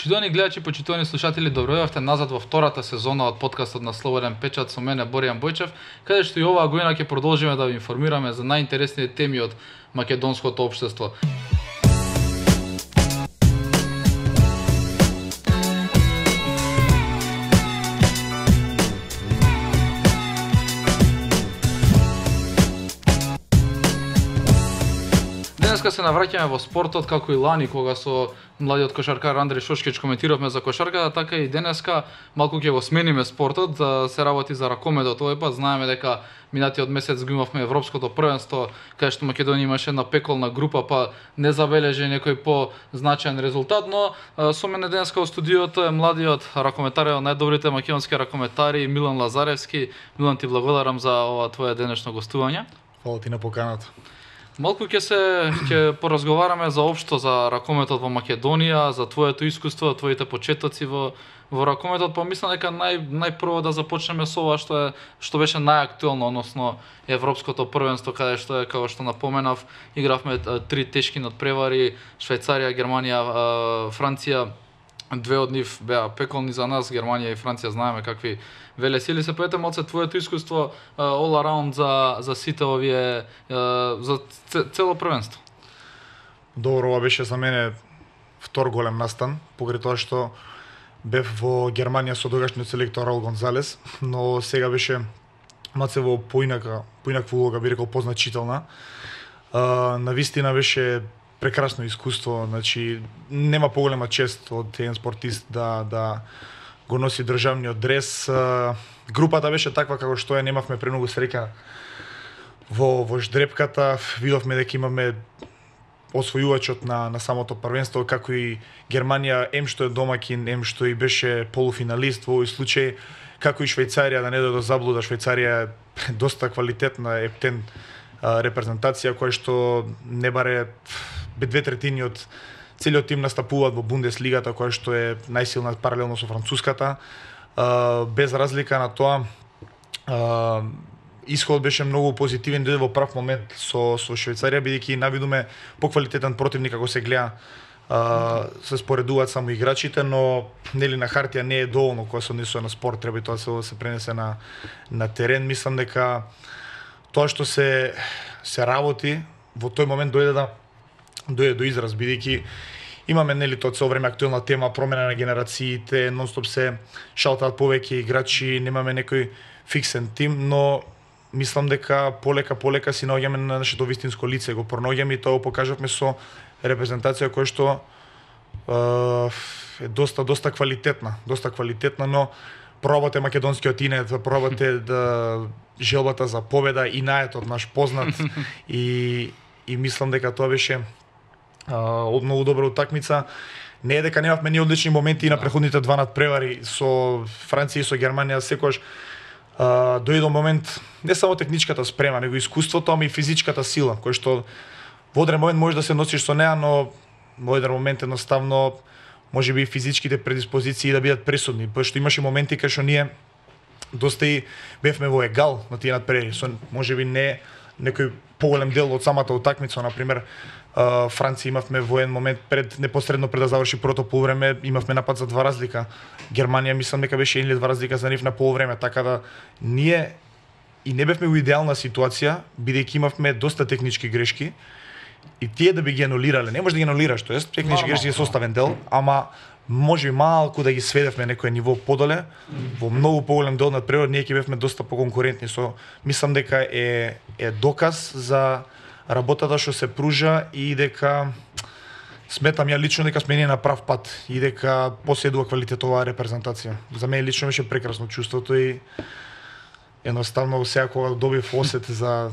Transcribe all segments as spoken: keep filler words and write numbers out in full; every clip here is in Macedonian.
Почитувани гледачи, почитувани слушатели, добројавте назад во втората сезона од подкастот на Слободен печат со мене Боријан Бојчев, каде што и оваа година ќе продолжиме да ви информираме за најинтересните теми од македонското општество. Денеска се навраќаме во спортот како и лани кога со младиот кошаркар Андреј Шошкич коментиравме за кошарката, така и денеска малку ќе го смениме спортот, да се работи за ракометот. Овој пат знаеме дека минатиот месец го имавме европското првенство, каде што Македонија имаше една пеколна група, па не забележи некој позначаен резултат, но со мене денеска во студиото е младиот ракометар, најдобрите македонски ракометари Милан Лазаревски. Милан, ти благодарам за ова твое денешно гостување. Фала ти на поканата. Малку ќе се ќе поразговараме за општо за ракометот во Македонија, за твоето искуство, твоите почетоци во во ракометот, па мислам дека нај најпрво да започнеме со ова што е што беше најактуелно, односно европското првенство, каде што е, како што напоменав, игравме три тешки надпревари: Швајцарија, Германија, Франција. Две од нив беа пеколни за нас, Германија и Франција знаеме какви велесили се. Поете малце твоето искуство all around за за сите овие за цело првенство. Добро, ова беше за мене втор голем настан, покрај тоа што бев во Германија со тогашниот селектор Раул Гонзалес, но сега беше малце во поинака, поинаква улога, би рекол позначителна. Навистина беше прекрасно искуство, значи нема поголема чест од еден спортист да да го носи државниот дрес. Групата беше таква како што е, немавме премногу среќа во во ждрепката. Видовме дека имаме освојувачот на на самото првенство, како и Германија, ем што е домаќин, ем што и беше полуфиналист во овој случај, како и Швајцарија, да не дојде до заблуда. Швајцарија е доста квалитетна ептен репрезентација која што не баре две третини од целиот тим настапуваат во Бундеслигата, која што е најсилна паралелно со француската. Без разлика на тоа, исходот беше многу позитивен, дојде во прав момент со со Швајцарија, бидејќи навидуме поквалитетен противник како се гледа. Се споредуваат само играчите, но нели на хартија не е доволно кога се однесува на спорт, треба и тоа се се пренесе на на терен. Мислам дека тоа што се се работи во тој момент дојде да дојде до израз, бидејќи имаме нели тоа цело време актуелна тема, промена на генерациите, нонстоп се шалтаат повеќе играчи, немаме некој фиксен тим, но мислам дека полека полека си наоѓаме на нашето вистинско лице, го пронаоѓаме и тоа го покажавме со репрезентација која што е доста доста квалитетна, доста квалитетна, но пробате македонскиот инет, пробате да желбата за победа, инаетот наш познат и и мислам дека тоа беше од многу добра утакмица. Не е дека немавме ни одлични моменти и на преходните два надпревари со Франција и со Германија, секогаш дојде момент не само техничката спрема, него искуството, ама и физичката сила, кој што во одреден момент можеш да се носиш со неа, но во еден момент едноставно можеби и физичките предиспозиции да бидат пресудни, пошто имаше моменти кај што ние доста и бевме во егал на тие надпревари, со можеби не некој поголем дел од самата утакмица. Например, Франција имавме во еден момент пред непосредно пред да заврши првото полувреме, имавме напад за два разлика. Германија мислам дека беше еден или два разлика за нив на полувреме, така да ние и не бевме во идеална ситуација, бидејќи имавме доста технички грешки и тие да би ги анулирале. Не можеш да ги анулираш, тоест технички грешки е составен дел, ама може малку да ги сведевме некој ниво подоле, во многу поголем дел надпревар ние ќе бевме доста поконкурентни. Со мислам дека е е доказ за работата што се пружа и дека сметам ја лично дека сме ние на прав пат и дека поседува квалитет оваа репрезентација. За мене лично беше прекрасно чувството и едноставно сега кога добив осет за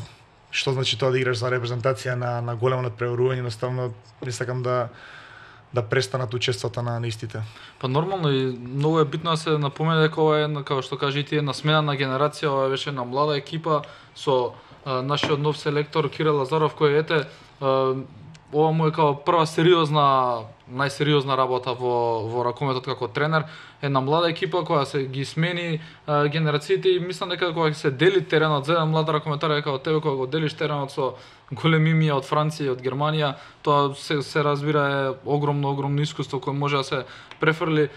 што значи тоа да играш за репрезентација на на големо надпреварување, едноставно не сакам да да престанат учествата на истите. Па нормално и многу е битно да се напомене дека ова е, како што кажи ти, една смена на генерација, ова беше една млада екипа со а, нашиот нов селектор Кирил Лазаров, кој ете а, ова му е како прва сериозна, најсериозна работа во во ракометот како тренер. Една млада екипа која се ги смени а, генерациите и мислам дека кога се дели теренот за еден млад ракометар како тебе, кога го делиш теренот со големи имија од Франција и од Германија, тоа се, се разбира е огромно, огромно искуство кое може да се префрли.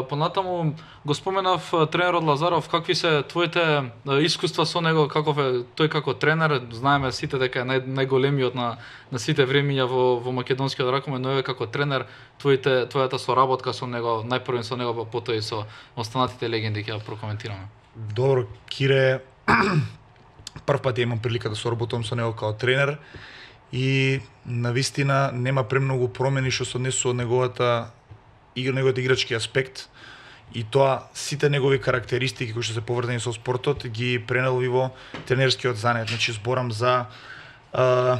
Понатаму го споменав тренерот Лазаров, какви се твоите искуства со него, каков е тој како тренер? Знаеме сите дека е нај, најголемиот на, на сите времиња во, во македонскиот ракомет, но е како тренер, твоите, твојата соработка со него, најпрвен со него, па потоа и со останатите легенди ќе ја прокоментираме. Добро, Кире, прв пат имам прилика да соработувам со него како тренер и навистина нема премногу промени што се однесува од неговата игра, неговиот играчки аспект и тоа сите негови карактеристики кои што се поврзани со спортот ги пренел и во тренерскиот занет. Значи зборам за а,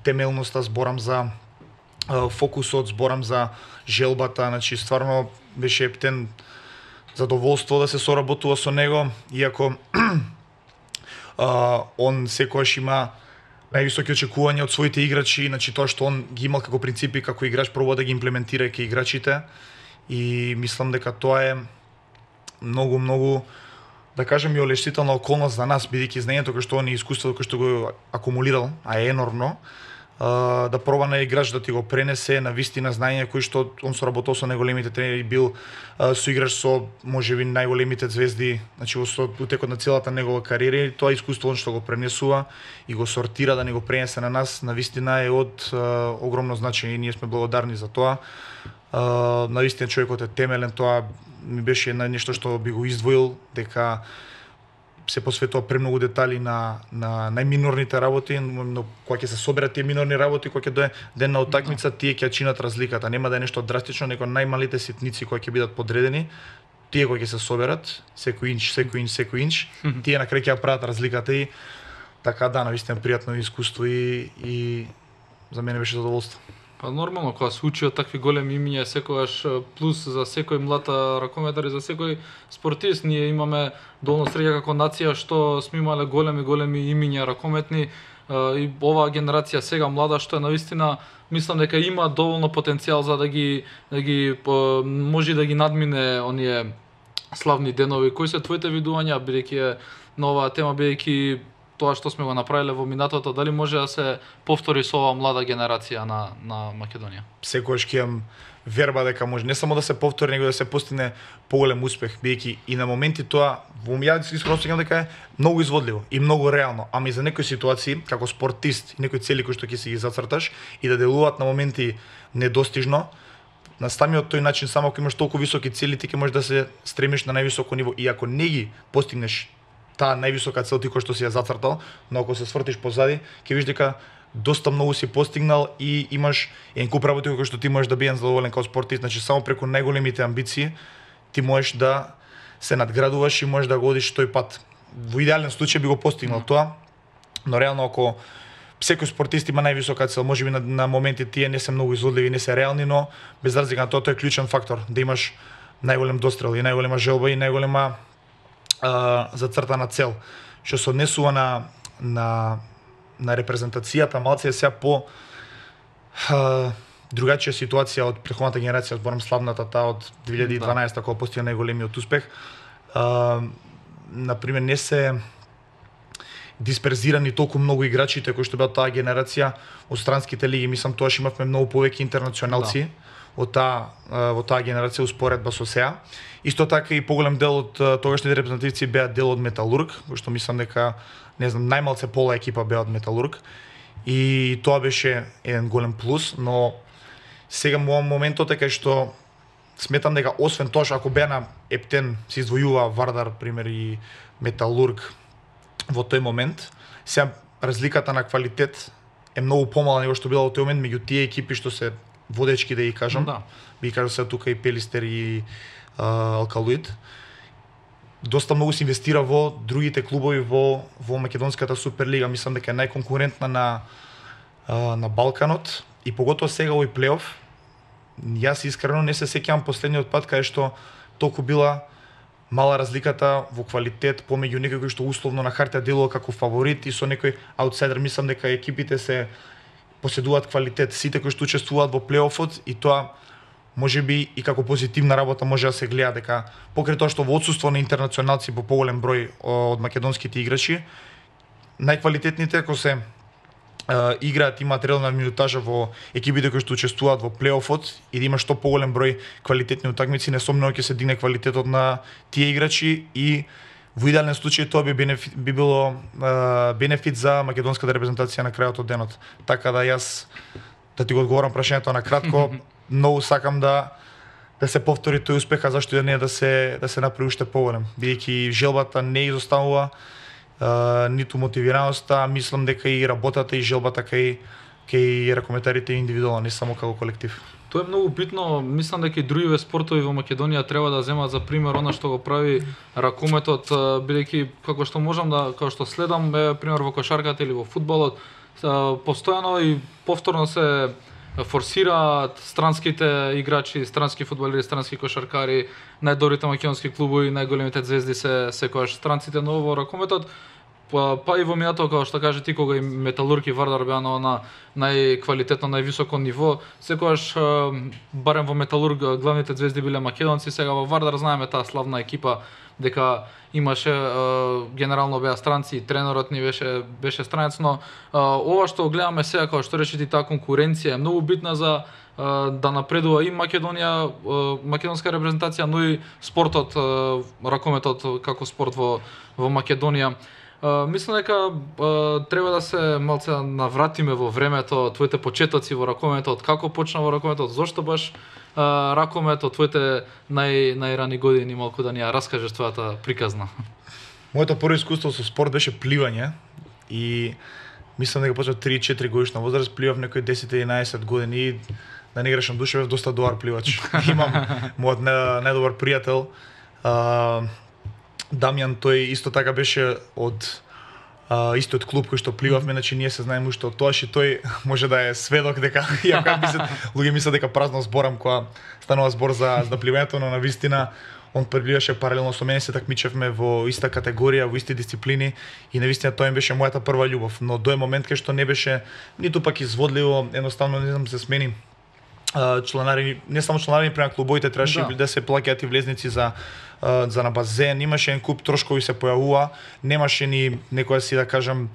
темелноста, зборам за а, фокусот, зборам за желбата, значи стварно беше ептен задоволство да се соработува со него, иако а, он секогаш има највисоки очекувања од своите играчи, значи тоа што он ги имал како принципи како играч пробува да ги имплементира кај играчите и мислам дека тоа е многу многу да кажем и олештителна околност за нас, бидејќи знаењето кој што он и искуството кој што го акумулирал, а е енормно, да проба на играч да ти го пренесе на вистина знаење кои што он соработил со најголемите тренери, бил соиграч со можеби најголемите звезди, значи во утекот на целата негова кариера и тоа искуство он што го пренесува и го сортира да ни го пренесе на нас, на вистина е од а, огромно значење и ние сме благодарни за тоа. А, на вистина човекот е темелен, тоа ми беше една нешто што би го издвоил, дека се посветува премногу детали на на најминорните работи, но кога ќе се соберат тие минорни работи, кога ќе дое ден на утакмица, тие ќе чинат разликата. Нема да е нешто драстично, него најмалите ситници кои ќе бидат подредени, тие кои ќе се соберат, секој инч, секој инч, секој инч, тие на крај ќе прават разликата и така да, навистина пријатно искуство и и за мене беше задоволство. Па нормално, кога се учи од такви големи имиња, секогаш плюс за секој млад ракометар и за секој спортист. Ние имаме доволно среќа како нација што сме имале големи големи имиња ракометни и оваа генерација сега млада што е навистина мислам дека има доволно потенцијал за да ги да ги може да ги надмине оние славни денови. Кои се твоите видувања бидејќи е на оваа тема, бидејќи тоа што сме го направиле во минатото, дали може да се повтори со оваа млада генерација на на Македонија? Секогаш ќе имам верба дека може не само да се повтори, него да се постигне поголем успех, бидејќи и на моменти тоа во ја искрено сеќавам дека е многу изводливо и многу реално, ами за некои ситуации како спортист и некои цели кои што ќе си ги зацрташ и да делуваат на моменти недостижно, на самиот тој начин само ако имаш толку високи цели ти ќе можеш да се стремиш на највисоко ниво и ако не ги постигнеш таа највисока цел ти кој што си ја зацртал, но ако се свртиш позади, ќе видиш дека доста многу си постигнал и имаш еден куп работи кои што ти можеш да бидеш задоволен како спортист, значи само преку најголемите амбиции ти можеш да се надградуваш и можеш да го одиш тој пат. Во идеален случај би го постигнал mm. тоа, но реално ако секој спортист има највисока цел, можеби на, на моменти тие не се многу изводливи, не се реални, но без разлика на тоа тоа е клучен фактор, да имаш најголем дострел и најголема желба и најголема а, зацртана цел. Што се однесува на на на репрезентацијата, малце е сега по а, другачија ситуација од претходната генерација, зборам славната таа од две илјади и дванаесета кога постигна најголемиот успех. А, например, не се дисперзирани толку многу играчите кои што беа таа генерација од странските лиги. Мислам тоаш имавме многу повеќе интернационалци да. од таа во таа генерација успоредба со сеа. Исто така и поголем дел од тогашните репрезентативци беа дел од Металург, кој што мислам дека не знам најмалце пола екипа беа од Металург. И тоа беше еден голем плюс, но сега во моментот е кај што сметам дека освен тоа што ако беа на ептен се издвојува Вардар пример и Металург во тој момент, сега разликата на квалитет е многу помала него што била во тој момент меѓу тие екипи што се водечки, да ги кажам. Да. Би кажал се тука и Пелистер и а, Алкалуид. Доста многу се инвестира во другите клубови во во македонската Суперлига. Мислам дека е најконкурентна на а, на Балканот и поготоа сега овој плейоф. Јас искрено не се сеќавам последниот пат каде што толку била мала разликата во квалитет помеѓу некој кој што условно на хартија делува како фаворит и со некој аутсайдер. Мислам дека екипите се поседуваат квалитет, сите кои што учествуваат во плейофот и тоа можеби и како позитивна работа може да се гледа дека покрај тоа што во отсуство на интернационалци по поголем број од македонските играчи, најквалитетните ако се Uh, играат, имаат редовна минутажа во екипите кои што учествуваат во плейофот и да има што поголем број квалитетни утакмици, несомнено ќе се дигне квалитетот на тие играчи и во идеален случај тоа би, бенефит, би било uh, бенефит за македонската репрезентација на крајот од денот. Така да јас да ти го одговорам прашањето на кратко, многу сакам да да се повтори тој успех, а зашто и да не да се да се направи уште поголем, бидејќи желбата не изоставува. Uh, ниту мотивираноста, мислам дека и работата и желбата кај кај ракометарите индивидуално, не само како колектив. Тоа е многу битно, мислам дека и другиве спортови во Македонија треба да земат за пример она што го прави ракометот, бидејќи како што можам да како што следам е пример во кошарката или во фудбалот, постојано и повторно се форсираат странските играчи, странски фудбалери, странски кошаркари, најдобрите македонски клубови, најголемите звезди се секогаш странците, но во ракометот па, па и во минатото, како што каже ти, кога и Металург и Вардар беа на она најквалитетно, највисоко ниво, секогаш барем во Металург главните звезди биле македонци, сега во Вардар знаеме таа славна екипа дека имаше генерално беа странци, тренерот ни беше беше странец, но ова што гледаме сега, како што рече ти, таа конкуренција е многу битна за да напредува и Македонија, македонска репрезентација, но и спортот, ракометот како спорт во во Македонија. Uh, мислам дека uh, треба да се малце навратиме во времето, твоите почетоци во ракометот, како почна во ракометот, зошто баш uh, ракометот, твоите нај најрани години, малку да ни ја раскажеш твојата приказна. Моето прво искуство со спорт беше пливање и мислам дека почнав три-четири годишна возраст, пливав некои десет-единаесет години, да не грешам душа, бев доста добар пливач. Имам мојот најдобар пријател, uh, Дамјан, тој исто така беше од а, истиот клуб кој што пливавме, значи ние се знаеме уште од тоаш и тој може да е сведок дека иако мислат, луѓе мислат дека празно зборам кога станува збор за за пливањето, но навистина он пливаше паралелно со мене, се такмичевме во иста категорија, во исти дисциплини и навистина тоа им беше мојата прва љубов, но дој момент кај што не беше ниту пак изводливо, едноставно не знам се смени чланари, не само чланари према клубовите, требаше да. да се плаќаат и влезници за за на базен, имаше еден куп трошкови се појавува, немаше ни некоја си да кажам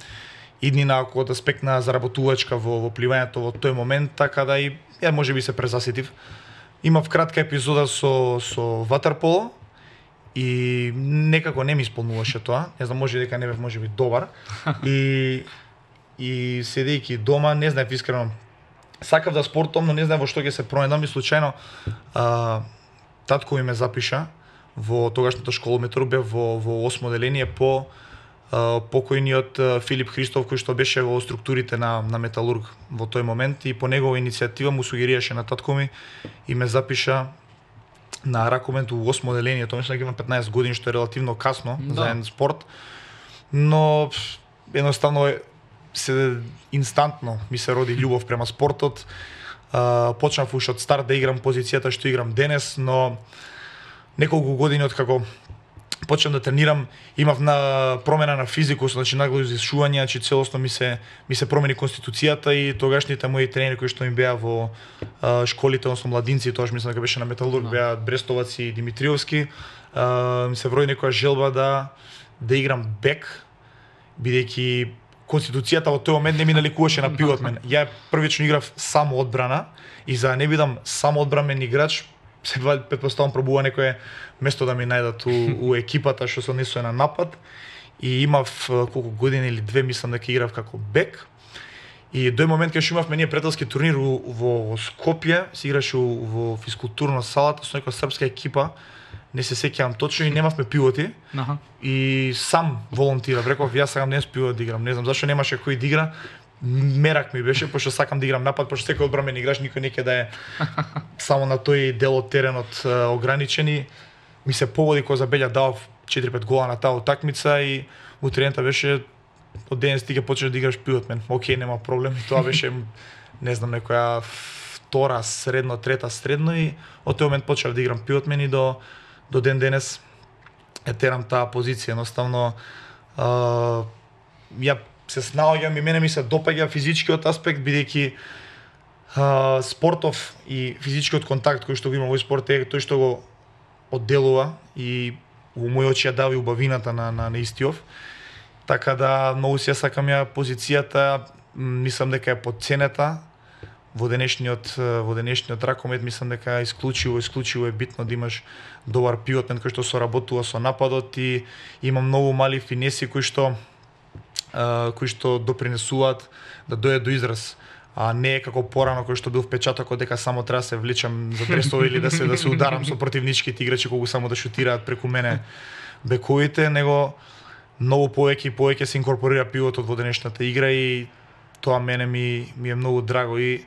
иднина од аспект на заработувачка во, во пливањето во тој момент, така да и ја можеби се презаситив. Имав кратка епизода со со ватерполо и некако не ми исполнуваше тоа, не знам, може дека не бев можеби добар и и седејќи дома, не знаев искрено, сакав да спортом, но не знаев во што ќе се пронајдам и случајно а, татко ми ме запиша во тогашната школа Металург, бев во, во осмо оделение по а, покојниот а, Филип Христов, кој што беше во структурите на, на Металург во тој момент и по негова иницијатива му сугерираше на татко ми и ме запиша на ракомет во осмо оделение, тоа мислам дека имам петнаесет години, што е релативно касно да. за еден спорт, но едноставно се инстантно ми се роди љубов према спортот. А, почнав уште од старт да играм позицијата што играм денес, но неколку години откако почнав да тренирам, имав на промена на физикус, значи нагло изишување, значи целосно ми се ми се промени конституцијата и тогашните мои тренери кои што ми беа во а, школите, односно младинци, тоа мислам дека беше на Металург, no. беа Брестовац и Димитриевски, а, ми се врои некоја желба да да играм бек, бидејќи конституцијата во тој момент не ми наликуваше на пивот мен. Ја првично играв само одбрана и за да не бидам само одбранен играч, се претпоставам пробува некое место да ми најдат у, у екипата што се однесува на напад и имав колку години или две мислам дека играв како бек. И дој момент кога што имавме ние пријателски турнир во, во Скопје, се играше во физкултурна салата со некоја српска екипа, не се сеќавам точно и немавме пивоти. Аха. И сам волонтирав, реков јас сакам денес пивот да играм. Не знам зашто немаше кој да игра. Мерак ми беше, пошто сакам да играм напад, пошто секој одбранен играч, никој не ќе да е само на тој дел од теренот ограничени. Ми се погоди кога за Белја дав четири-пет гола на таа утакмица и утрената беше од денес ти ќе почнеш да играш пивот мен. Океј, нема проблем. И тоа беше не знам некоја втора средно, трета средно и од тој момент почнав да играм пивот мен и до до ден денес е терам таа позиција. Едноставно а, ја се снаоѓам и мене ми се допаѓа физичкиот аспект, бидејќи а, спортов и физичкиот контакт кој што го има во спорт е тој што го одделува и во мои очи ја дава и убавината на, на, на истиов. Така да многу се сакам ја позицијата мислам дека е подценета во денешниот во денешниот ракомет. Мислам дека исклучиво исклучиво е битно да имаш добар пивотмен кој што соработува со нападот и има многу мали финеси кои што а, кои што допринесуваат да дојде до израз. А не е како порано кој што бил впечатокот дека само треба се влечам за дресови или да се да се ударам со противничките играчи кога само да шутираат преку мене бековите, него многу повеќе и повеќе се инкорпорира пивотот во денешната игра и тоа мене ми ми е многу драго и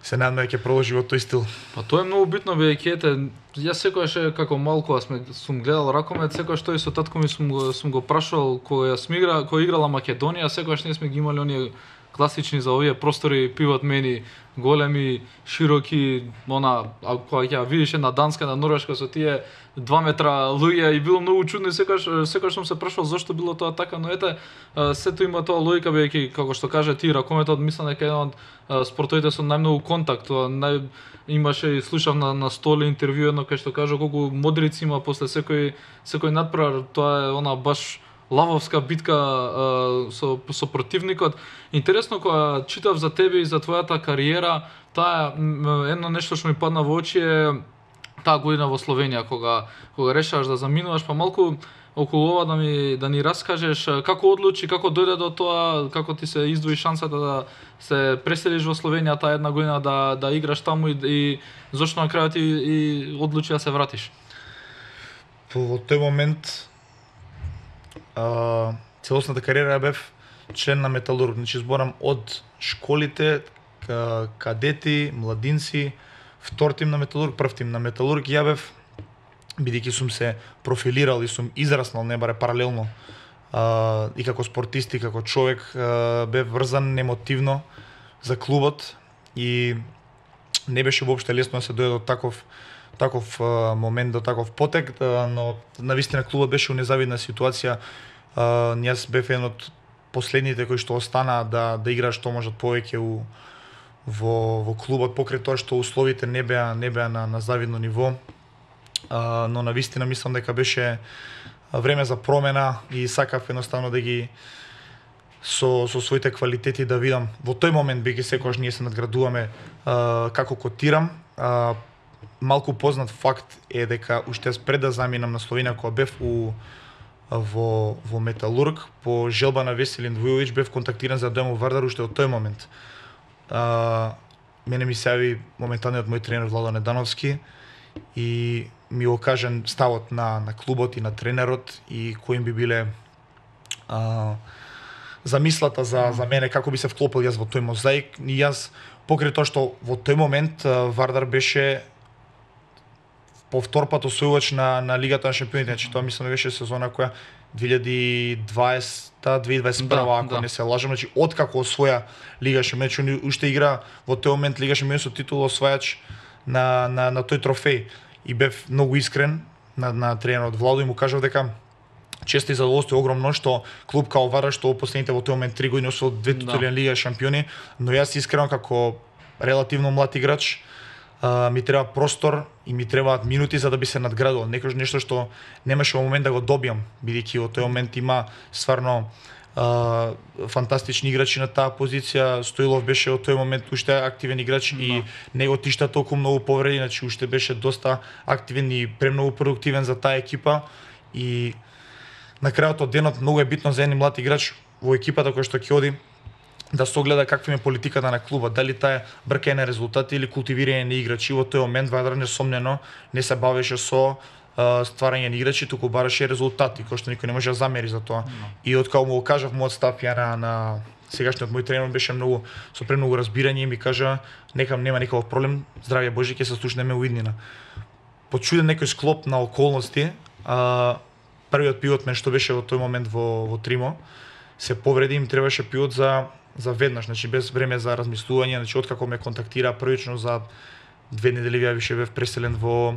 се надам дека ќе продолжи во тој стил. Па тоа е многу битно, бидејќи ете, јас секогаш како малку а сме сум гледал ракомет, секогаш тој со татко ми сум го сум го прашал кога јас игра, кога играла Македонија, секогаш не сме ги имали оние класични за овие простори пивот мени големи, широки, она а кога ќе видиш на Данска, на Норвешка со тие два метра луѓе и било многу чудно и секогаш секогаш сум се прашал зошто било тоа така, но ете сето има тоа логика бидејќи како што кажа ти ракометот мислам дека е еден од спортовите со најмногу контакт, тоа нај имаше и слушав на на Столи интервју едно кај што кажа колку модрици има после секој секој надпревар, тоа е она баш лавовска битка а, со со противникот. Интересно кога читав за тебе и за твојата кариера, таа едно нешто што ми падна во очи е таа година во Словенија кога кога решаваш да заминуваш, па малку околу ова да ми да ни раскажеш како одлучи, како дојде до тоа, како ти се издвои шансата да се преселиш во Словенија таа една година да да играш таму и, и зошто на крајот и, и одлучи да се вратиш. Во тој момент а, целосната кариера бев член на Металург, значи зборам од школите, кадети, младинци, втор тим на Металург, прв тим на Металург. Ја бев, бидејќи сум се профилирал и сум израснал не баре паралелно а, и како спортист и како човек, а, бев врзан емотивно за клубот и не беше воопште лесно да се дојде до таков таков а, момент, до таков потек, а, но навистина клубот беше у незавидна ситуација. А, јас бев еден од последните кои што останаа да да играат што можат повеќе у во во клубот покрај тоа што условите не беа не беа на на завидно ниво. А, но навистина мислам дека беше време за промена и сакав едноставно да ги со со своите квалитети да видам во тој момент бидејќи секогаш ние се надградуваме а, како котирам. А, малку познат факт е дека уште пред да заминам на Словенија кога бев у во во Металург по желба на Веселин Војович бев контактиран за да дојдам во Вардар уште од тој момент. А, мене ми се јави моменталниот мој тренер Владо Недановски и ми го кажан ставот на на клубот и на тренерот и кои би биле а, замислата за за мене како би се вклопил јас во тој мозаик. И јас покрај тоа што во тој момент Вардар беше повтор пат освојувач на на Лигата на шампионите, значи тоа мислам беше сезона која две илјади и дваесета две илјади и дваесет и прва, да, ако да. Не се лажам, значи откако освоја Лига шампиони, значи уште игра во тој момент Лига шампиони со титула освајач на на на тој трофеј и бев многу искрен на на тренерот Владо и му кажав дека често и задоволство е огромно што клуб као Вардар што во последните во тој момент три години освоил две титули на Лига шампиони, но јас искрено како релативно млад играч Uh, ми треба простор и ми требаат минути за да би се надградил. Некој нешто што немаше во момент да го добиам, бидејќи во тој момент има стварно uh, фантастични играчи на таа позиција. Стоилов беше во тој момент уште активен играч no. и него тишта толку многу повреди, значи уште беше доста активен и премногу продуктивен за таа екипа и на крајот од денот многу е битно за еден млад играч во екипата кој што ќе оди да се огледа каква е политиката на клубот, дали таа е бркање на резултати или култивирање на играчи. Во тој момент Вардар несомнено не се бавеше со uh, стварање на играчи, туку бараше резултати, кои што никој не може да замери за тоа. No. И откако му го кажав мојот став ја на, на сегашниот мој тренер беше многу со премногу разбирање и ми кажа нека нема никаков проблем, здравје Божи, ќе се слушнеме у иднина. Почуден некој склоп на околности, uh, првиот пивот мен што беше во тој момент во во Тримо се повреди, им требаше пивот за за веднаш, значи без време за размислување, значи откако ме контактира првично за две недели ја више бев преселен во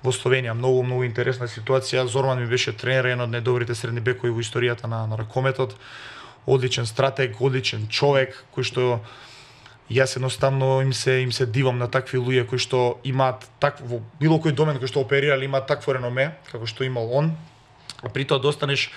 во Словенија. Многу многу интересна ситуација. Зорман ми беше тренер, еден од најдобрите средни бекови во историјата на на ракометот. Одличен стратег, одличен човек кој што јас едноставно им се им се дивам на такви луѓе кои што имаат такво било кој домен кој што оперирале имаат такво реноме како што имал он. А при тоа достанеш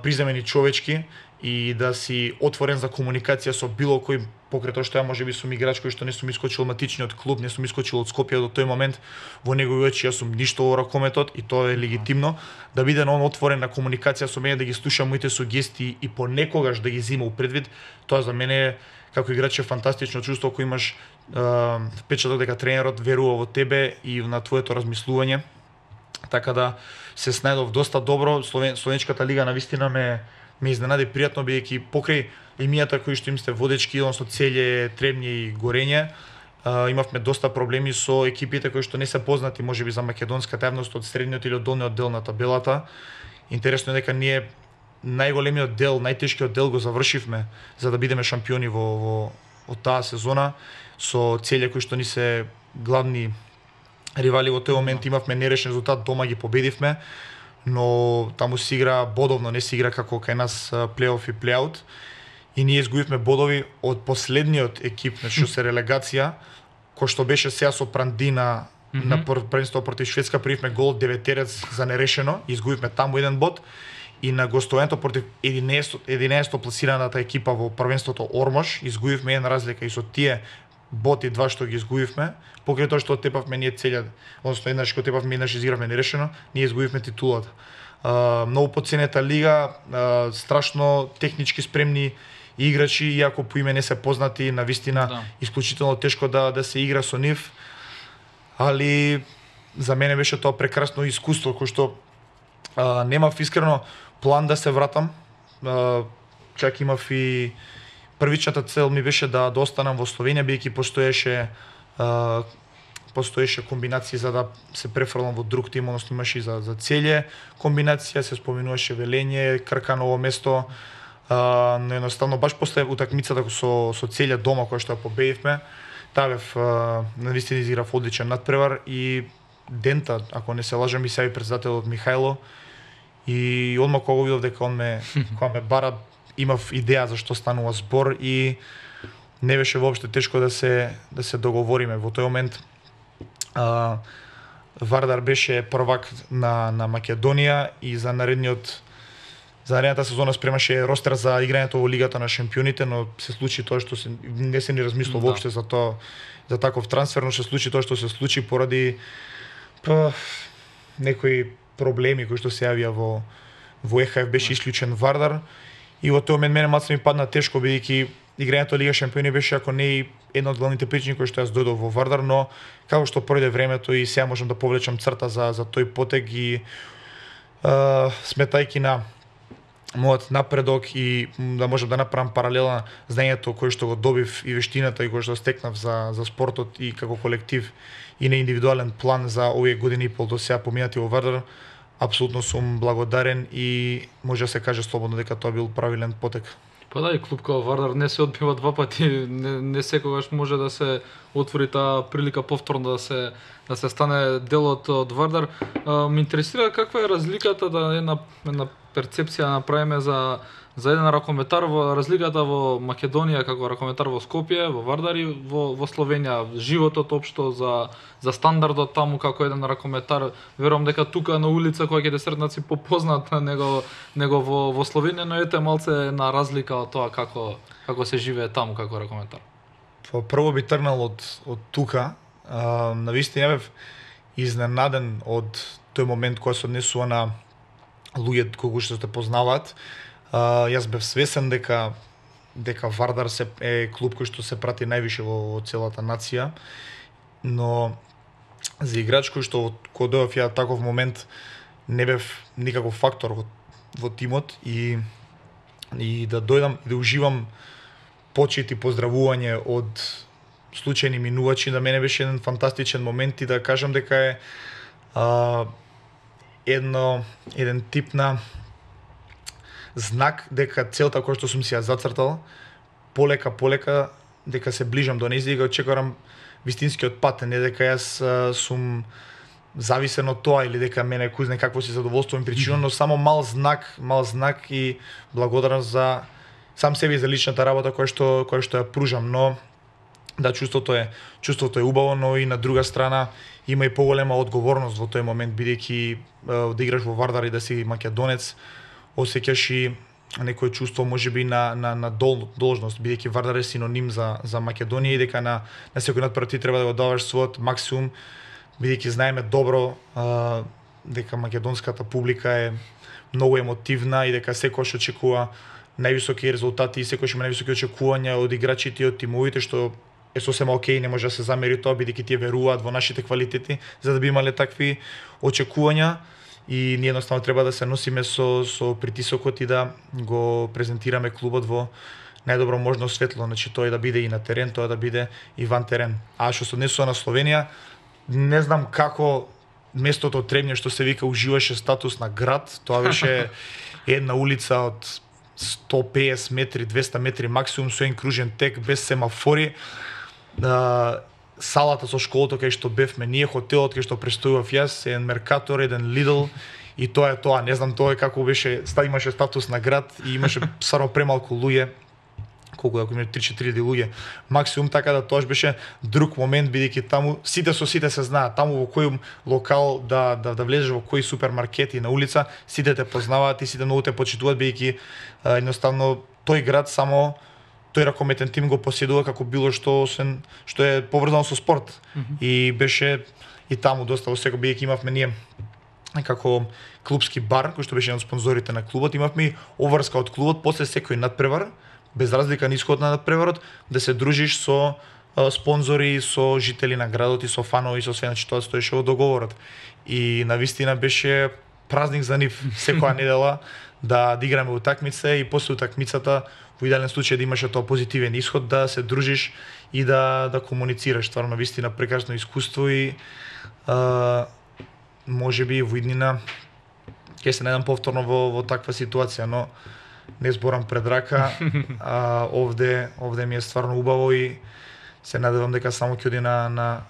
приземени човечки и да си отворен за комуникација со било кој, покрај тоа што ја можеби сум играч кој што не сум искочил матичниот клуб, не сум искочил од Скопје до тој момент, во негови очи јас сум ништо во ракометот и тоа е легитимно, да биде он отворен на комуникација со мене, да ги слуша моите сугестии и понекогаш да ги зима у предвид, тоа за мене е како играч е фантастично чувство кој имаш е, впечаток дека тренерот верува во тебе и на твоето размислување. Така да се снајдов доста добро. Словен, Словенската лига навистина ме ме изненади пријатно, бидејќи покрај емијата кои што им сте водечки, односно Целје, Требње и Горење, а, имавме доста проблеми со екипите кои што не се познати можеби за македонската јавност од средниот или од долниот дел на табелата. Интересно е дека ние најголемиот дел, најтешкиот дел го завршивме за да бидеме шампиони во, во од таа сезона со Целје кои што ни се главни ривали во тој момент. Имавме нерешен резултат, дома ги победивме, но таму се игра бодовно, не се игра како кај нас плейоф и плейаут. И ние изгубивме бодови од последниот екип, значи се релегација, кој што беше сега со Прандина mm -hmm. на првенство против Шведска, примивме гол деветерец за нерешено, изгубивме таму еден бод. И на гостувањето против единаесетто пласираната екипа во првенството Ормош, изгубивме една разлика и со тие боти два што ги изгубивме, покрај тоа што отепавме ние Целја, односно еднаш што отепавме, еднаш изигравме нерешено, ние изгубивме титулата. Uh, многу поценета лига, uh, страшно технички спремни играчи, иако по име не се познати, навистина да. Исклучително тешко да да се игра со нив, али за мене беше тоа прекрасно искуство, кој што uh, немав искрено план да се вратам, uh, чак имав и првичната цел ми беше да да останам во Словенија, бидејќи постоеше uh, постоеше комбинации за да се префрлам во друг тим, односно имаше и за за Целје комбинација, се споминуваше Велење, Крка, Ново место, а, но едноставно баш после утакмицата со со Целје дома која што ја победивме, Тавев навистина изиграв одличен надпревар и дента, ако не се лажам, и се председателот Михајло, и одма кога го видов дека он ме кога ме бара, имав идеја за што станува збор и не беше воопшто тешко да се да се договориме. Во тој момент Uh, Вардар беше првак на, на Македонија и за наредниот за наредната сезона спремаше ростер за играњето во Лигата на шампионите, но се случи тоа што се не се ни размислува да. Воопште за тоа, за таков трансфер, но се случи тоа што се случи поради па, некои проблеми кои што се јавија во во Е Ха Еф, беше исклучен Вардар и во тој момент мене малку ми падна тешко, бидејќи играњето Лига шампиони беше ако не и една од главните причини кои што јас дојдов во Вардар, но како што пројде времето и сега можам да повлечам црта за за тој потег и а, сметајќи на мојот напредок и да можам да направам паралела знаењето кое што го добив и вештината и кое што стекнав за за спортот и како колектив и на индивидуален план за овие години и пол до сега поминати во Вардар, апсолутно сум благодарен и може да се каже слободно дека тоа бил правилен потек. Па да, и клуб како Вардар не се одбива два пати, не, не секогаш може да се отвори таа прилика повторно да се да се стане дел од, од Вардар. А, ме интересира каква е разликата, да една една перцепција направиме за за еден ракометар, во разликата во Македонија како ракометар во Скопје, во Вардар и во во Словенија, животот општо за за стандардот таму како еден ракометар. Верувам дека тука на улица која ќе те сретнат си попознат него него во во Словенија, но ете малце на разлика од тоа како како се живее таму како ракометар. Па прво би тргнал од од тука, а, навистина бев изненаден од тој момент кој се однесува на луѓе кои што те познаваат. Uh, јас бев свесен дека дека Вардар се е клуб кој што се прати највише во, во целата нација, но за играч кој што кога дојдов ја таков момент не бев никаков фактор во, во тимот и и да дојдам и да уживам почит и поздравување од случајни минувачи, да мене беше еден фантастичен момент и да кажам дека е uh, едно еден тип на знак дека целта која што сум си ја зацртал, полека полека дека се ближам до нејзија и го очекувам вистинскиот пат, не дека јас а, сум зависен од тоа или дека мене кој знае какво си задоволствувам причина, но само мал знак, мал знак и благодарам за сам себе и за личната работа која што која што ја пружам, но да, чувството е чувството е убаво, но и на друга страна има и поголема одговорност во тој момент, бидејќи да играш во Вардар и да си македонец, осеќаш и некое чувство можеби на на на дол, должност, бидејќи Вардар е синоним за за Македонија и дека на на секој надпревар ти треба да го даваш својот максимум, бидејќи знаеме добро а, дека македонската публика е многу емотивна и дека секојаш очекува највисоки резултати и секојаш има највисоки очекувања од играчите и од тимовите, што е сосема окей, не може да се замери тоа, бидејќи тие веруваат во нашите квалитети, за да би имале такви очекувања. И ние едноставно треба да се носиме со со притисокот и да го презентираме клубот во најдобро можно светло, значи тој да биде и на терен, тоа да биде и ван терен. А што се однесува на Словенија, не знам како местото Требње што се вика уживаше статус на град, тоа беше една улица од сто и песет метри, двесте метри максимум со еден кружен тек без семафори. Да, салата со школото кај што бевме ние, хотелот кај што престојував јас, еден Меркатор, еден Лидл и тоа е тоа. Не знам тоа е како беше, имаше статус на град и имаше саро премалку луѓе, колку ако имаше три-четири луѓе максимум, така да тоа беше друг момент, бидејќи таму сите со сите се знаат, таму во кој локал да да да влезеш, во кој супермаркет и на улица, сите те познаваат и сите многу те почитуваат, бидејќи едноставно тој град само тој ракометен тим го поседува како било што освен што е поврзано со спорт. Mm -hmm. И беше и таму доста во секој, бидејќи имавме ние како клубски бар, кој што беше еден од спонзорите на клубот, имавме и обврска од клубот после секој надпревар, без разлика на исходот на надпреварот, да се дружиш со а, спонзори, со жители на градот и со фанови, со све, значи тоа стоеше во договорот. И навистина беше празник за нив секоја недела да, да играме утакмица и после утакмицата во идеален случај да имаше тоа позитивен исход, да се дружиш и да да комуницираш. Стварно вистина прекрасно искуство и а, можеби во иднина ќе се најдам повторно во во таква ситуација, но не зборам пред рака. А, овде овде ми е стварно убаво и се надевам дека само ќе оди на на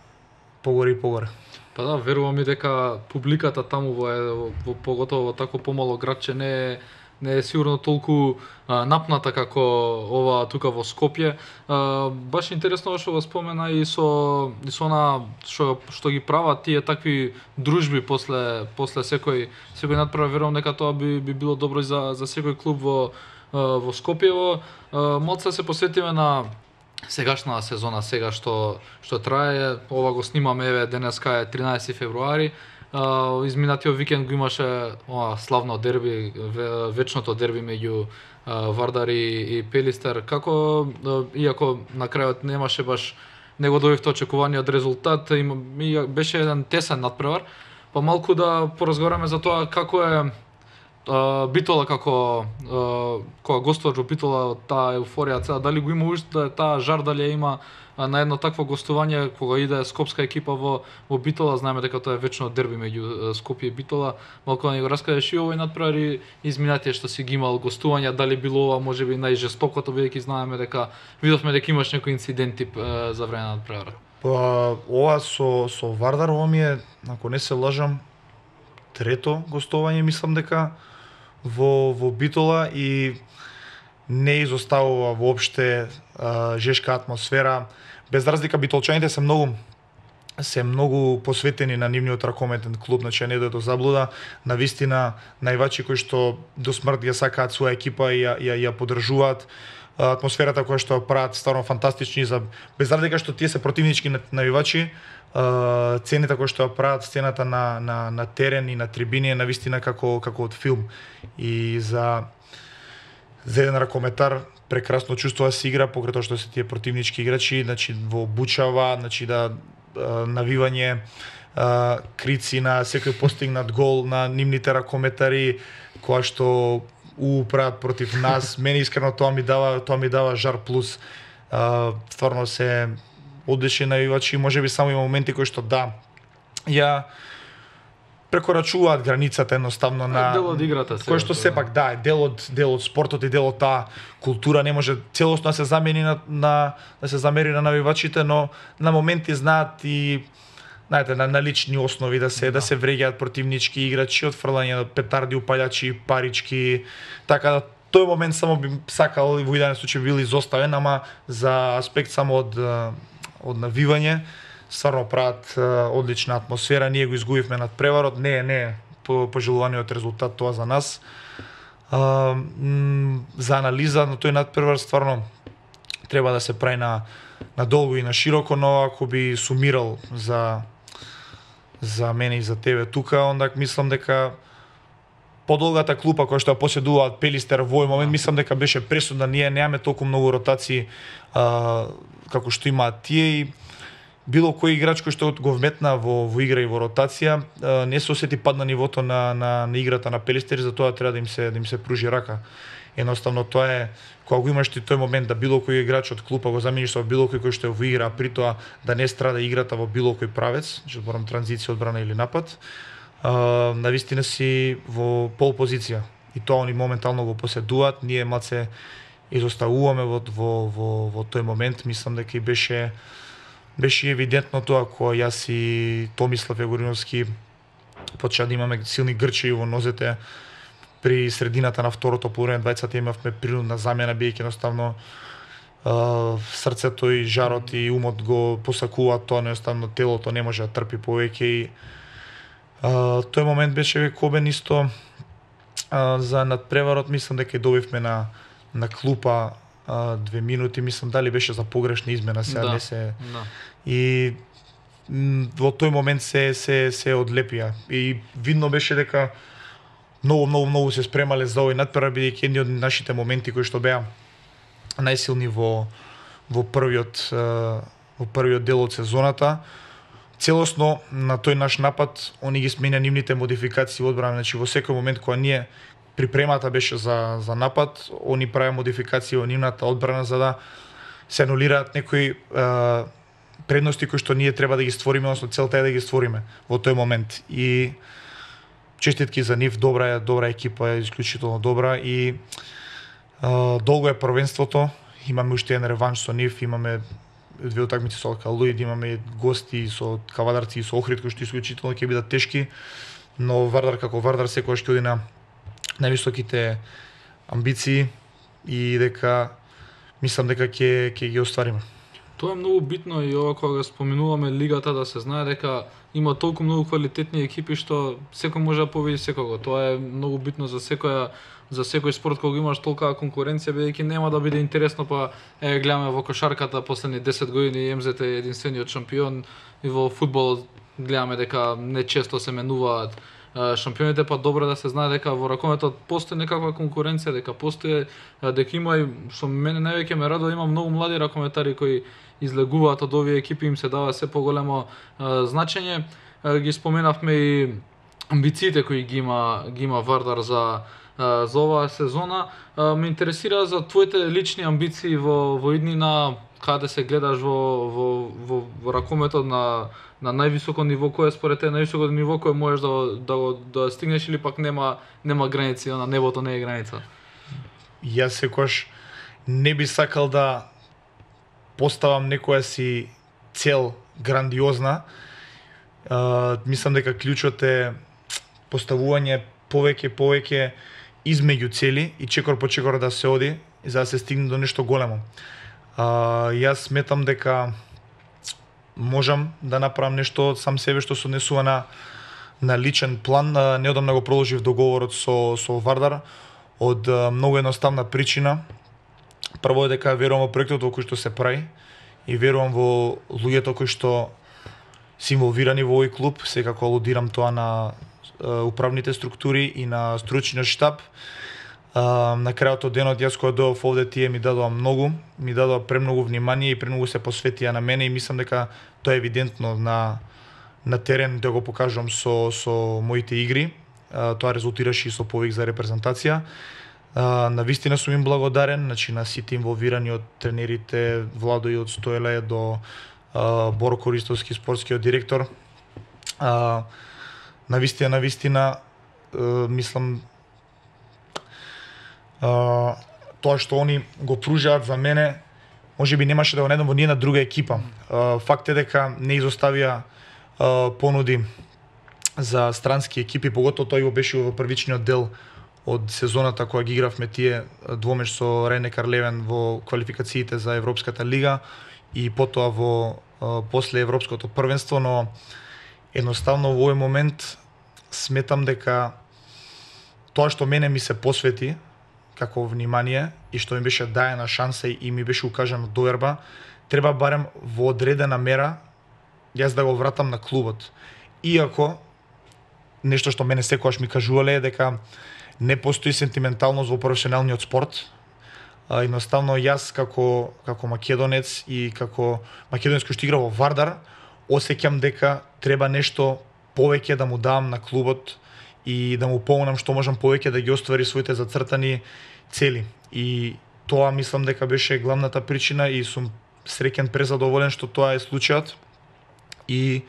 погоре и погоре. Па да, верувам и дека публиката таму во, во, во поготово во тако помало градче не е не е сигурно толку а, напната како ова тука во Скопје. А, баш интересно што го спомена и со и со на што што ги прават тие такви дружби после после секој секој надпревар, верувам дека тоа би би било добро за за секој клуб во во Скопје. Малце се посветиме на сегашна сезона, сега што што трае. Ова го снимаме, еве денеска е тринаесети февруари. Uh, изминатиот викенд го имаше ова славно дерби, вечното дерби меѓу uh, Вардар и, и Пелистер. Како, uh, иако на крајот немаше баш, не го добивте очекуваниот резултат, има, беше еден тесен надпревар, па малку да поразговараме за тоа како е uh, Битола, како uh, кога гостуваш во Битола, таа еуфорија, цела, дали го има уште таа жар, дали ја има на едно такво гостување кога иде скопска екипа во во Битола. Знаеме дека тоа е вечно дерби меѓу Скопје и Битола. Малку да ни го раскажеш и овој надпревар и изминатие што си ги имал гостувања, дали било ова можеби најжестокото, бидејќи знаеме дека видовме дека имаш некои инциденти за време на надпреварот. Па ова со со Вардар, ова ми е, ако не се лажам, трето гостување, мислам дека во во Битола и не изоставува воопште а, жешка атмосфера. Без разлика битолчаните се многу се многу посветени на нивниот ракометен клуб, значи не дојде до заблуда, на вистина највачи кои што до смрт ја сакаат своја екипа и ја ја, ја поддржуваат. Атмосферата која што ја прават стварно фантастични, за без разлика што тие се противнички навивачи, цените кои што ја прават, сцената на на на терен и на трибини е на вистина како како од филм. И за за еден ракометар прекрасно чувство да се игра, покрај тоа што се тие противнички играчи, значи во обучава, значи да навивање крици на секој постигнат гол на нивните ракометари, која што у прават против нас. Мене искрено тоа ми дава тоа ми дава жар плюс. Стварно се одлични навивачи, можеби само има моменти кои што да ја прекорачуваат границата едноставно на дел од играта, кој што сепак да е дел од дел од спортот и дел од таа култура, не може целосно да се замени на, на да се замери на навивачите, но на моменти знаат и знаете на, на лични основи да се да, да се вреѓаат противнички играчи, од фрлање на петарди, упалјачи, парички, така да тој момент само би сакал и во идеален случај бил изоставен, ама за аспект само од од навивање стварно прават одлична атмосфера. Ние го изгубивме над преварот, не е не е по пожелуваниот резултат тоа за нас. А, м, за анализа на тој надпревар стварно треба да се прави на на долго и на широко, но ако би сумирал за за мене и за тебе тука, онда мислам дека подолгата клупа која што ја поседуваат Пелистер во овој момент, мислам дека беше пресудна. Ние немаме толку многу ротации а, како што имаат тие и било кој играч кој што го вметна во, во игра и во ротација, а, не се осети пад на нивото на, на, на играта на Пелистер, затоа треба да им се да им се пружи рака. Едноставно тоа е кога го имаш ти тој момент да било кој играч од клупа го замениш со било кој кој што е во игра, а при тоа да не страда играта во било кој правец, што зборам транзиција, одбрана или напад. Uh, навистина си во пол позиција и тоа они моментално го поседуваат. Ние малце изоставуваме во во во во тој момент. Мислам дека и беше беше евидентно тоа кога јас и Томислав Егориновски почна да имаме силни грчеви во нозете при средината на второто полувреме. Двајцата имавме принудна замена, бидејќи едноставно uh, срцето и жарот и умот го посакуваат тоа, едноставно телото не може да трпи повеќе и Uh, тој момент беше векобен исто uh, за надпреварот. Мислам дека и добивме на на клупа uh, две минути, мислам дали беше за погрешна измена, сега да, не се да. И м, во тој момент се се се одлепија и видно беше дека многу многу многу се спремале за овој надпревар, бидејќи едни од нашите моменти кои што беа најсилни во во првиот uh, во првиот дел од сезоната. Целосно на тој наш напад они ги сменја нивните модификации во одбрана, значи во секој момент кога ние припремата беше за за напад, они правеа модификации во нивната одбрана за да се анулираат некои е, предности кои што ние треба да ги створиме, односно целта е да ги створиме во тој момент. И честитки за нив, добра е, добра екипа е, исклучително добра и е, долго е првенството, имаме уште еден реванш со нив, имаме две утакмици со Алкалуид, имаме гости со Кавадарци и со Охрид кои што исклучително ќе бидат тешки, но Вардар како Вардар секогаш ќе оди на највисоките амбиции и дека мислам дека ќе ќе ги оствариме. Тоа е многу битно и ова кога споменуваме лигата, да се знае дека има толку многу квалитетни екипи што секој може да победи секого. Тоа е многу битно за секоја за секој спорт кога имаш толкава конкуренција, бидејќи нема да биде интересно, па е гледаме во кошарката последни десет години Ем Зет е единствениот шампион и во фудбалот гледаме дека не често се менуваат шампионите, па добро да се знае дека во ракометот постои некаква конкуренција, дека постои, дека има и што мене највеќе ме радува, има многу млади ракометари кои излегуваат од овие екипи, им се дава се поголемо значење. Ги споменавме и амбициите кои ги има ги има Вардар за за оваа сезона. Ме интересира за твоите лични амбиции во во иднина, каде се гледаш во во во, во ракометот на на највисоко ниво, кое според те највисоко ниво кое можеш да да да стигнеш, или пак нема нема граници, на небото не е граница? Јас секогаш не би сакал да поставам некоја си цел грандиозна. Uh, мислам дека клучот е поставување повеќе повеќе измеѓу цели и чекор по чекор да се оди за да се стигне до нешто големо. Uh, јас сметам дека можам да направам нешто од сам себе што се однесува на на личен план. Uh, неодамна го продолжив договорот со со Вардар од uh, многу едноставна причина. Прво е дека верувам во проектот во кој што се прави и верувам во луѓето кои што се инволвирани во овој клуб, секако алудирам тоа на uh, управните структури и на стручниот штаб. Uh, на крајот од денот јас кога дојдов овде, тие ми дадоа многу, ми дадоа премногу внимание и премногу се посветија на мене и мислам дека тоа е евидентно на на терен, да го покажувам со со моите игри. Uh, тоа резултираше и со повик за репрезентација. Uh, на вистина сум им благодарен, значи на сите инволвирани од тренерите Владо и од Стоеле до uh, Боро Користовски, спортскиот директор. Uh, на вистина, на вистина, uh, мислам, uh, тоа што они го пружаат за мене, може би немаше да го најдам во ниједна друга екипа. Uh, факт е дека не изоставија uh, понуди за странски екипи, поготово тој го беше во првичниот дел од сезоната кога ги игравме тие двомеч со Рейне Левен во квалификациите за Европската лига и потоа во а, после Европското првенство, но едноставно во овој момент сметам дека тоа што мене ми се посвети како внимание и што ми беше даена шанса и ми беше укажана доверба, треба барем во одредена мера јас да го вратам на клубот. Иако нешто што мене секогаш ми кажувале е дека не постои сентименталност во професионалниот спорт. А, едноставно јас како како македонец и како македонец кој што игра во Вардар, осеќам дека треба нешто повеќе да му дам на клубот и да му помогнам што можам повеќе да ги оствари своите зацртани цели. И тоа мислам дека беше главната причина и сум среќен, презадоволен што тоа е случајот. И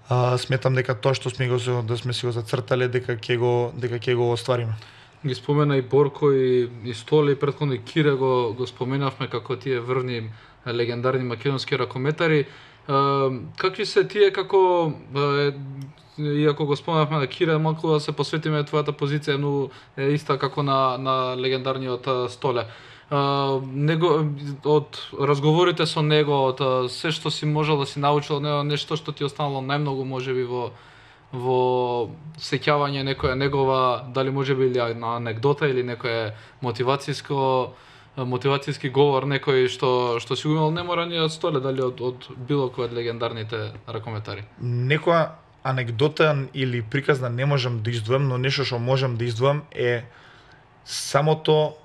а, сметам дека тоа што сме го да сме си го зацртале дека ќе го дека ќе го оствариме. Ги спомена и Борко и, и Столе и претходно и Кире го, го споменавме како тие врвни легендарни македонски ракометари. А, какви се тие како е, иако го споменавме на Кире, малку да се посветиме твојата позиција, но е иста како на на легендарниот Столе. Uh, него, од разговорите со него, од uh, се што си можел да си научил од него, нешто што ти останало најмногу можеби во во сеќавање некоја негова, дали можеби или на анегдота или некој мотивацијско мотивацијски говор некој што што си го имал, не мора ни од Столе, дали од од било кој од легендарните ракометари. Некоја анегдота или приказна не можам да издвојам, но нешто што можам да издвојам е самото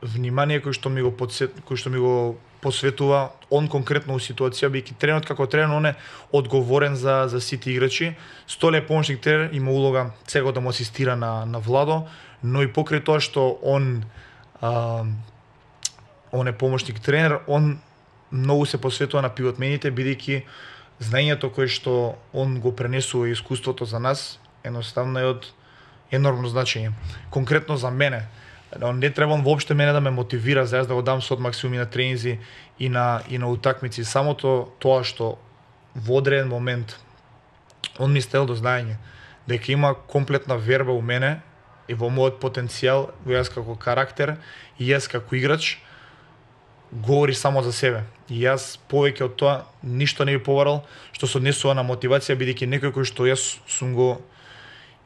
внимание кој што ми го подсет, кој што ми го посветува он конкретно у ситуација, бидејќи тренерот како тренер он е одговорен за за сите играчи. Столе е помошник тренер, има улога сега да му асистира на на Владо, но и покрај тоа што он а, он е помошник тренер, он многу се посветува на пивотмените, бидејќи знаењето кое што он го пренесува и искуството за нас едноставно е од енормно значење. Конкретно за мене, не треба он воопште мене да ме мотивира за јас да го дам сот максимум и на тренинзи и на и на утакмици, самото тоа што во одреден момент он ми стел до знаење дека има комплетна верба у мене и во мојот потенцијал, во јас како карактер и јас како играч, говори само за себе. И јас повеќе од тоа ништо не би побарал што се однесува на мотивација, бидејќи некој кој што јас сум го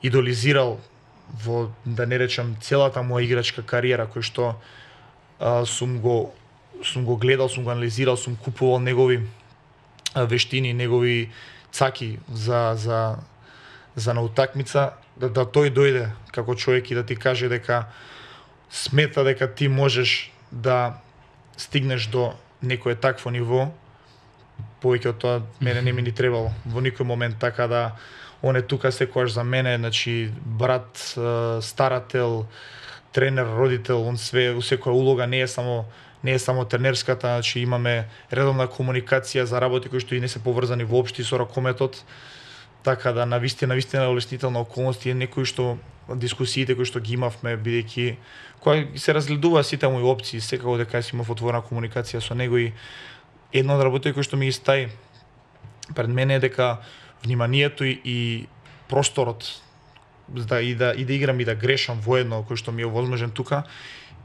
идолизирал во, да не речам, целата моја играчка кариера, кој што а, сум го сум го гледал, сум го анализирал, сум купувал негови а, вештини, негови цаки за за за на утакмица, да, да тој дојде како човек и да ти каже дека смета дека ти можеш да стигнеш до некое такво ниво, повеќе од тоа мене не ми ни требало во никој момент, така да он е тука секогаш за мене, значи брат, старател, тренер, родител, он све у секоја улога, не е само не е само тренерската, значи имаме редовна комуникација за работи кои што и не се поврзани воопшто со ракометот. Така да на вистина вистина олеснителна околност и некои што дискусиите кои што ги имавме, бидејќи кога се разгледува сите мои опции, секако дека си имав отворена комуникација со него, и една од работите кои што ми ги стаи пред мене е дека вниманието и, и просторот да и да и да играм и да грешам воедно, кој што ми е возможен тука,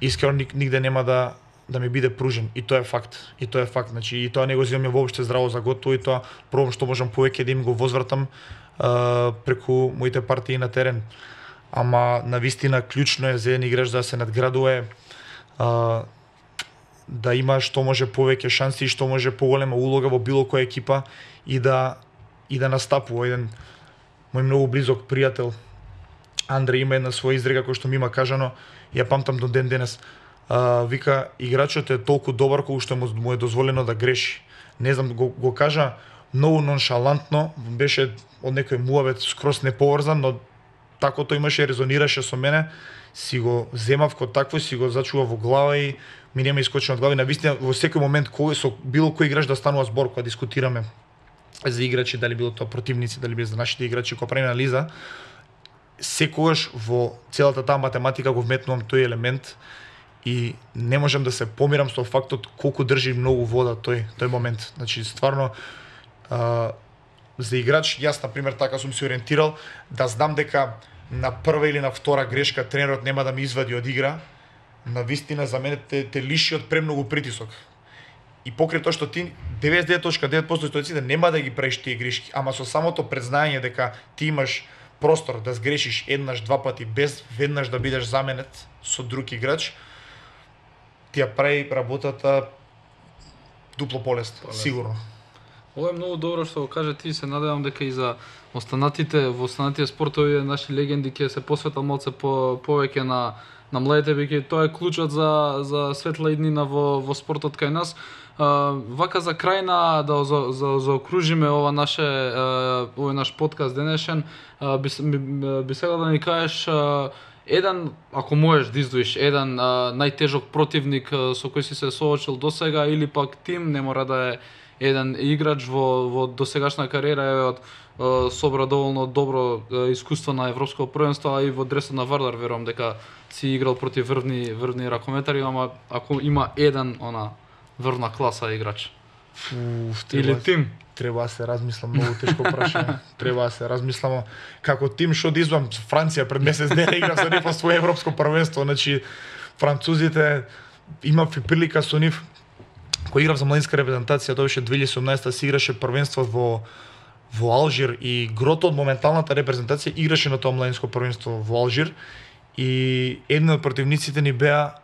искрено нигде нема да да ми биде пружен, и тоа е факт. И тоа е факт, значи и тоа не го земам воопште здраво за готово, и тоа пробам што можам повеќе да им го возвратам а, преку моите партии на терен. Ама на вистина клучно е за еден играч да се надградува, а, да има што може повеќе шанси и што може поголема улога во било која екипа и да и да настапува. Еден мој многу близок пријател Андре има една своја изрека која што ми има кажано, ја памтам до ден денес. Uh, вика, играчот е толку добар колку што му е дозволено да греши. Не знам, го, го кажа многу ноншалантно, беше од некој муавет скрос неповрзан, но тако тој имаше, резонираше со мене, си го земав ко такво, си го зачува во глава и ми нема искочено од глава. На вистина, во секој момент кој со било кој играч да станува збор, кога дискутираме за играчи, дали било тоа противници, дали било за нашите играчи, кога правиме анализа, секогаш во целата таа математика го вметнувам тој елемент. И не можам да се помирам со фактот колку држи многу вода тој тој момент. Значи стварно а, за играч, јас на пример така сум се ориентирал да знам дека на прва или на втора грешка тренерот нема да ме извади од игра. На вистина за мене те, те лиши од премногу притисок. И покрај тоа што ти деветдесет и девет zarez девет проценти ситуациите нема да ги правиш тие грешки, ама со самото презнаење дека ти имаш простор да сгрешиш еднаш, два пати без веднаш да бидеш заменет со друг играч, ти ја прави работата дупло полесно, сигурно. Ова е многу добро што го каже ти, се надевам дека и за останатите во останатите спортови наши легенди ќе се посветат малце по повеќе на на младите, бидејќи тоа е клучот за за светла иднина во во спортот кај нас. Uh, вака за крај на да за, за, заокружиме ова наше uh, овој наш подкаст денешен, uh, би, би, би сега да ни кажеш uh, еден, ако можеш да издвоиш еден uh, најтежок противник uh, со кој си се соочил досега, или пак тим, не мора да е еден играч во во досегашна кариера, е од uh, собра доволно добро uh, искуство на европско првенство, а и во дресот на Вардар верувам дека си играл против врвни врвни ракометари, ама ако има еден она врвна класа играч. Уф, или тим. Треба да се размислам, многу тешко прашање. Треба да се размислам како тим што да извам Франција пред месец дена игра со нив во свое европско првенство, значи французите имав и прилика со нив кој играв за младинска репрезентација, тоа беше две илјади и седумнаесета се играше првенство во во Алжир и грото од моменталната репрезентација играше на тоа младинско првенство во Алжир и еден од противниците ни беа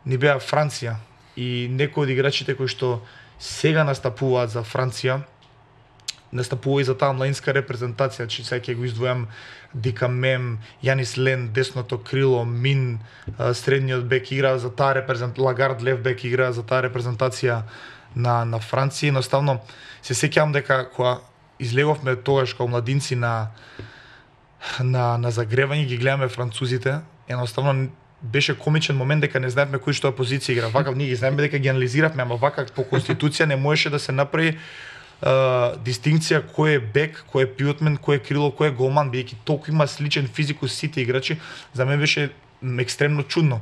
ни беа Франција. И некои од играчите кои што сега настапуваат за Франција, настапува и за таа младинска репрезентација, че сега ќе го издвојам Дикамем, Јанис Лен, десното крило, Мин, средниот бек игра за таа репрезентација, Лагард лев бек игра за таа репрезентација на на Франција. Едноставно се сеќавам дека кога излеговме тогаш како младинци на на на загревање, ги гледаме французите, едноставно беше комичен момент дека не знаевме кој што е позиција игра. Вака ние ги знаеме дека ги анализиравме, ама вака по конституција не можеше да се направи Uh, дистинкција кој е бек, кој е пивотмен, кој е крило, кој е голман, бидејќи толку има сличен физикус сите играчи, за мене беше екстремно чудно.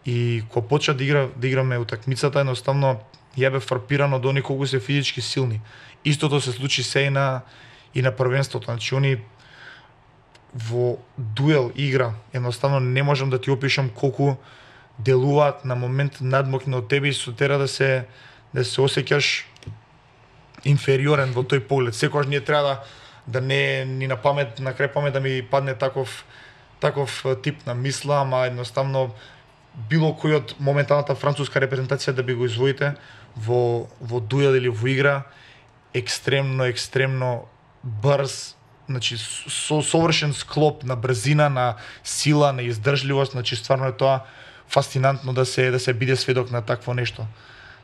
И кога почна да игра да играме утакмицата, едноставно ја бе фрапирано до они колку се физички силни. Истото се случи се и на и на првенството. Значи они во дуел игра, едноставно не можам да ти опишам колку делуваат на момент надмокни од тебе и со тера да се да се осеќаш инфериорен во тој поглед. Секогаш ние треба да да не ни на памет, на крај памет да ми падне таков таков тип на мисла, ама едноставно било кој од моменталната француска репрезентација да би го извоите во во дуел или во игра, екстремно екстремно брз, значи со совршен склоп на брзина, на сила, на издржливост, значи стварно е тоа фасцинантно да се да се биде сведок на такво нешто.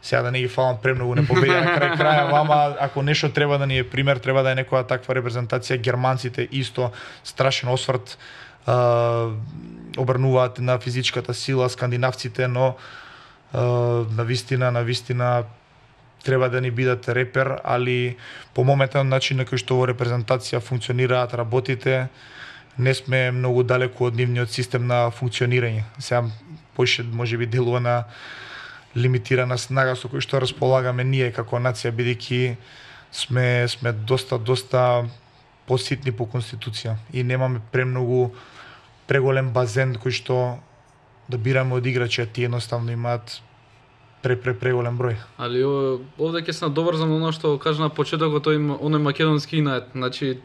Сега да не ги фалам премногу, не победија на крај краја, ама ако нешто треба да ни е пример, треба да е некоја таква репрезентација. Германците исто страшен осврт е, обрнуваат на физичката сила, скандинавците, но е, на вистина, на вистина треба да ни бидат репер, али по моментен начин на кој што во репрезентација функционираат работите, не сме многу далеку од нивниот систем на функционирање. Сега поише можеби делува на лимитирана снага со кој што располагаме ние како нација, бидејќи сме сме доста доста поситни по конституција и немаме премногу преголем базен кој што да бираме од играчи, а тие едноставно имаат пре пре преголем број. Али овде ќе се надоврзам на она што кажа на почетокот, тој оној македонски инат. Значи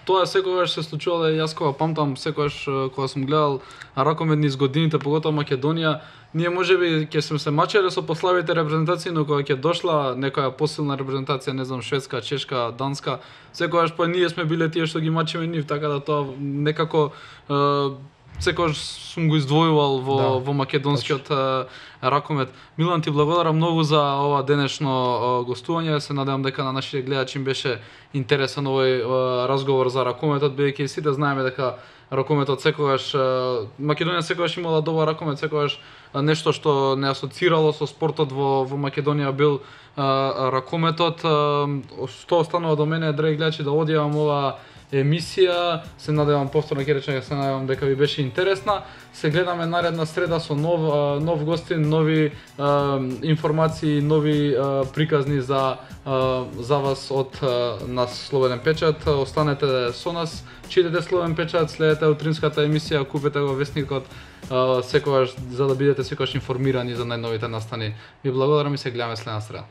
тоа секогаш се случувало, јас кога памтам, секогаш кога сум гледал ракомет низ годините, поготово Македонија, ние можеби ќе сме се мачеле со пославите репрезентации, но кога ќе дошла некоја посилна репрезентација, не знам, шведска, чешка, данска, секогаш па ние сме биле тие што ги мачиме нив, така да тоа некако е, секогаш сум го издвојувал во да, во македонскиот е, ракомет. Милан, ти благодарам многу за ова денешно е, гостување. Се надевам дека на нашите гледачи им беше интересен овој е, разговор за ракометот, бидејќи сите знаеме дека ракометот секогаш Македонија секогаш имала добар ракомет, секогаш нешто што не асоцирало со спортот во во Македонија бил а, ракометот. А, што останува до мене, драги гледачи, да одјавам ова емисија. Се надевам повторно ќе речем, се надевам дека ви беше интересна. Се гледаме наредна среда со нов а, нов гостин, нови а, информации, нови а, приказни за а, за вас од а, нас Слободен печат. Останете со нас, читате Слободен печат, следете утринската емисија, купете го весникот а, секогаш за да бидете секогаш информирани за најновите настани. Ви благодарам и се гледаме следна среда.